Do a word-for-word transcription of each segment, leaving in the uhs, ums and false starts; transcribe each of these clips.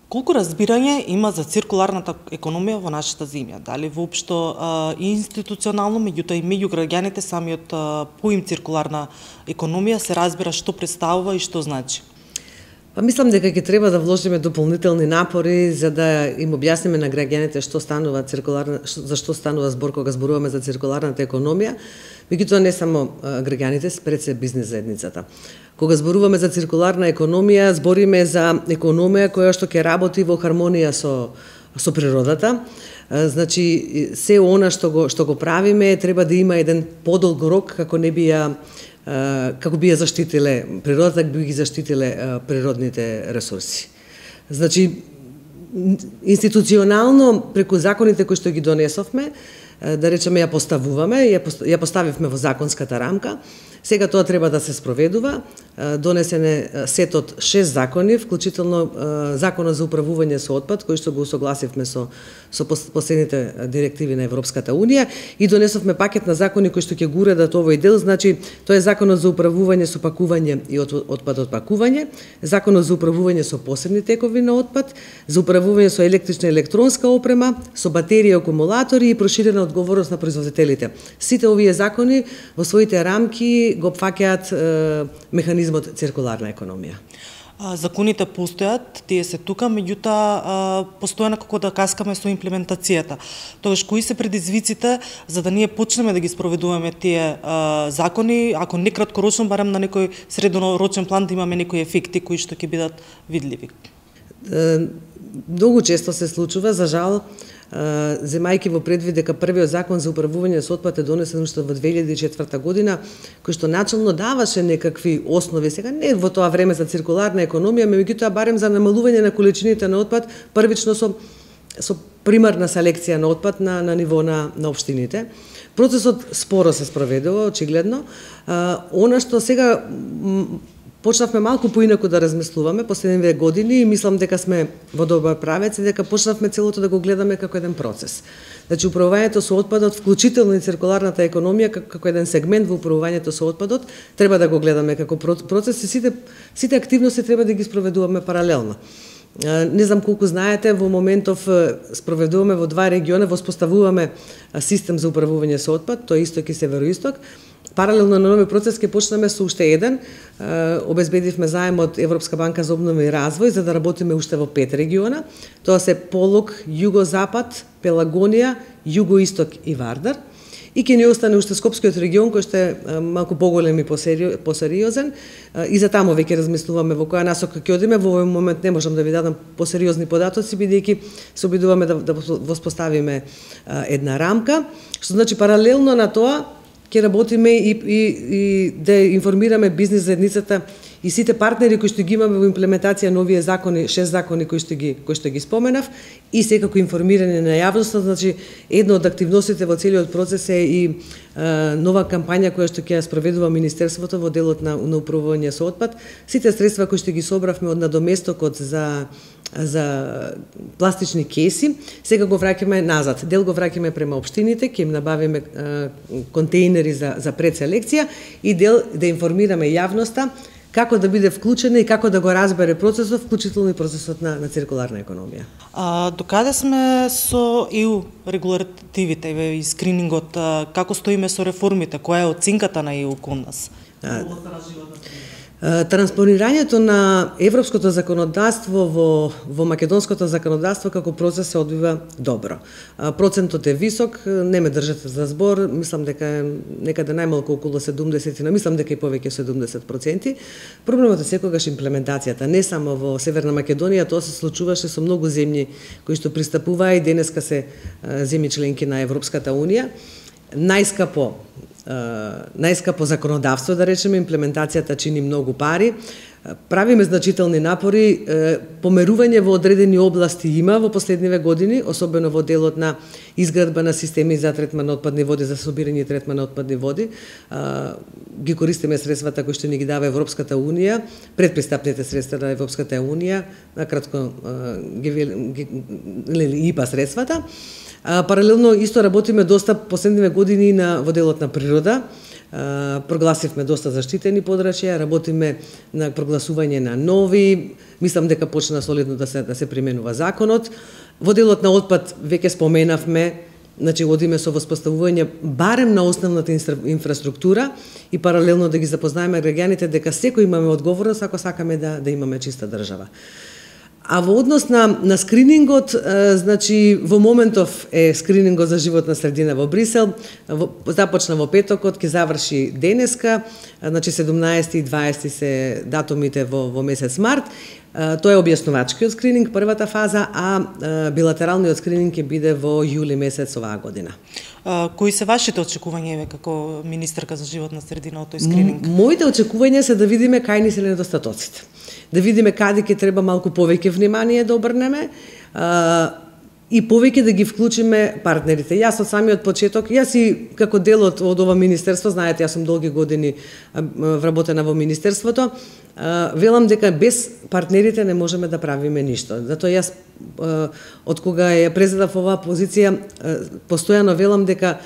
Колку разбирање има за циркуларната економија во нашата земја? Дали воопшто а, институционално, меѓутоа и меѓу граѓаните самиот а, поим циркуларна економија се разбира што представува и што значи? Па мислам дека ќе треба да вложиме дополнителни напори за да им објасниме на граѓаните што станува циркуларна, за што станува збор кога зборуваме за циркуларната економија, меѓутоа не само граѓаните, пред се бизнес заедницата. Кога зборуваме за циркуларна економија, збориме за економија која што ќе работи во хармонија со со природата. Значи се она што го што го правиме треба да има еден подолг рок како не би ја како би ја заштитиле природата, би ги заштитиле природните ресурси. Значи, институционално, преку законите кои што ги донесовме, да речеме ја поставуваме, ја поставивме во законската рамка, сега тоа треба да се спроведува. Донесен е сет од шест закони, вклучително Законот за управување со отпад, кој што го усогласивме со со последните директиви на Европската унија, и донесовме пакет на закони кои што ќе го уредат овој дел. Значи, тоа е Законот за управување со пакување и отпад од пакување, Законот за управување со посебни текови на отпад, за управување со електрична и електронска опрема, со батерии и акумулатори и проширена одговорност на производителите. Сите овие закони во своите рамки го опфаќаат механизмот циркуларна економија. Законите постојат, тие се тука, меѓутоа постојано како да каскаме со имплементацијата. Тогаш кои се предизвиците за да ние почнеме да ги спроведуваме тие а, закони, ако не краткорочно, барем на некој среднорочен план да имаме некои ефекти кои што ќе бидат видливи? Многу често се случува, за жал, земајќи во предвид дека првиот закон за управување со отпад е донесен уште во две илјади и четврта година, кој што начално даваше некакви основи, сега не во тоа време за циркуларна економија, меѓутоа барем за намалување на количините на отпад, првично со со примарна селекција на отпад на на ниво на на општините. Процесот споро се спроведува, очигледно. Она што сега почнавме малку поинаку да размислуваме последниве години и мислам дека сме во добар правец и дека почнавме целото да го гледаме како еден процес. Значи, управувањето со отпадот, вклучително и циркуларната економија, како еден сегмент во управувањето со отпадот, треба да го гледаме како процес и сите, сите активности треба да ги спроведуваме паралелно. Не знам колку знаете, во моментов спроведуваме во два региона, воспоставуваме систем за управување со отпад, тоа е исток и североисток. Паралелно на новиот процес ќе почнеме со уште еден. Обезбедивме заем од Европска банка за обнова и развој за да работиме уште во пет региона. Тоа се Полог, Југозапад, Пелагонија, Југоисток и Вардар. И ќе ни остане уште Скопскиот регион, кој што е малку поголем и посериозен. И за таму веќе размислуваме во која насока ќе одиме. Во овој момент не можам да ви дадам посериозни податоци, бидејќи се обидуваме да, да воспоставиме една рамка. Што значи паралелно на тоа ќе работиме и, и, и да информираме бизнес заедницата и сите партнери кои што ги имаме во имплементација на овие закони, шест закони кои што ги кои што ги споменав, и секако информирање на јавноста. Значи, една од активностите во целиот процес е и е, нова кампања која што ќе ја спроведува Министерството во делот на, на управување со отпад. Сите средства кои што ги собравме од надоместокот за за пластични кеси, сега го враќаме назад. Дел го враќаме према општините, ќе им набавиме е, контејнери за за предселекција и дел да информираме јавноста како да биде вклучена и како да го разбере процесот, вклучително и процесот на, на циркуларна економија. А, докаде сме со и ю регулативите и скринингот, како стоиме со реформите, која е оценката на и ю кон нас? А, Транспонирањето на европското законодавство во, во македонското законодавство како процес се одвива добро. Процентот е висок, не ме држате за збор, мислам дека е некаде најмалку околу седумдесет, но мислам дека и повеќе седумдесет проценти. Проблемот е секогаш имплементацијата, не само во Северна Македонија, тоа се случуваше со многу земји кои што пристапуваа и денеска се земји членки на Европската унија. Најскапо најскапо законодавство, да речеме, имплементацијата чини многу пари. Правиме значителни напори, померување во одредени области има во последниве години, особено во делот на изградба на системи за третман на отпадни води, за собирање и третман на отпадни води. Ги користиме средствата кои што ни ги дава Европската унија, предпристапните средства на Европската унија, накратко ги, ги, ги ИПА средствата. Паралелно исто работиме доста последниве години на во делот на природа. прогласивме доста заштитени подрачја, работиме на прогласување на нови, мислам дека почна солидно да се да се применува законот. Во делот на отпад веќе споменавме, значи одиме со воспоставување барем на основната инфраструктура и паралелно да ги запознаеме граѓаните дека секој имаме одговорност ако сакаме да да имаме чиста држава. А во однос на, на скринингот, е, значи во моментов е скринингот за животна средина во Брисел, во, започна во петокот, ќе заврши денеска, значи седумнаесети и дваесети се датумите во, во месец март. Е, тоа е објаснувачкиот скрининг, првата фаза, а е, билатералниот скрининг ќе биде во јули месец оваа година. А, кои се вашите очекувања како министерка за животна средина од тој скрининг? М моите очекувања се да видиме кај ни се недостатоците. Да видиме каде ќе треба малку повеќе внимание да обрнеме а, и повеќе да ги вклучиме партнерите. Јас од самиот почеток, јас и како дел од, од ова министерство, знаете, јас сум долги години вработена во министерството, а, велам дека без партнерите не можеме да правиме ништо. Затоа јас а, од кога ја презедав оваа позиција, а, постојано велам дека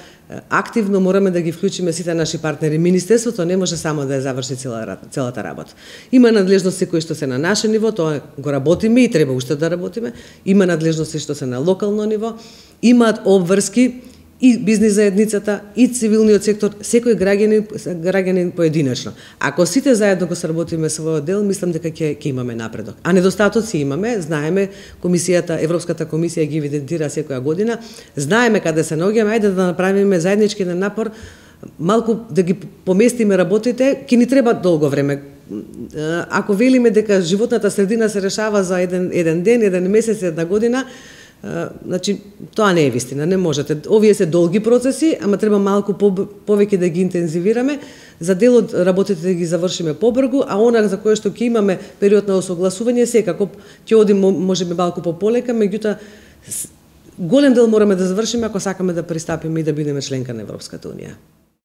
активно мораме да ги вклучиме сите наши партнери. Министерството не може само да ја заврши цела, целата работа. Има надлежности кои што се на наше ниво, тоа го работиме и треба уште да работиме. Има надлежности што се на локално ниво, имаат обврски и бизнис заедницата, и цивилниот сектор, секој граѓанин, граѓанин поединечно. Ако сите заедно го сработиме својот дел, мислам дека ќе ќе имаме напредок. А недостатоци имаме, знаеме, комисијата, Европската комисија ги евидентира секоја година, знаеме каде се наоѓаме, ајде да направиме заеднички напор, малку да ги поместиме работите, ќе ни треба долго време. Ако велиме дека животната средина се решава за еден еден ден, еден месец, една година, Uh, значи, тоа не е вистина, не можете. Овие се долги процеси, ама треба малку по, повеќе да ги интензивираме, за дел од работите да ги завршиме побрзо, а она за кое што ќе имаме период на осогласување, секако ќе одиме можеби малку пополека, меѓутоа голем дел мораме да завршиме ако сакаме да пристапиме и да бидеме членка на Европската унија.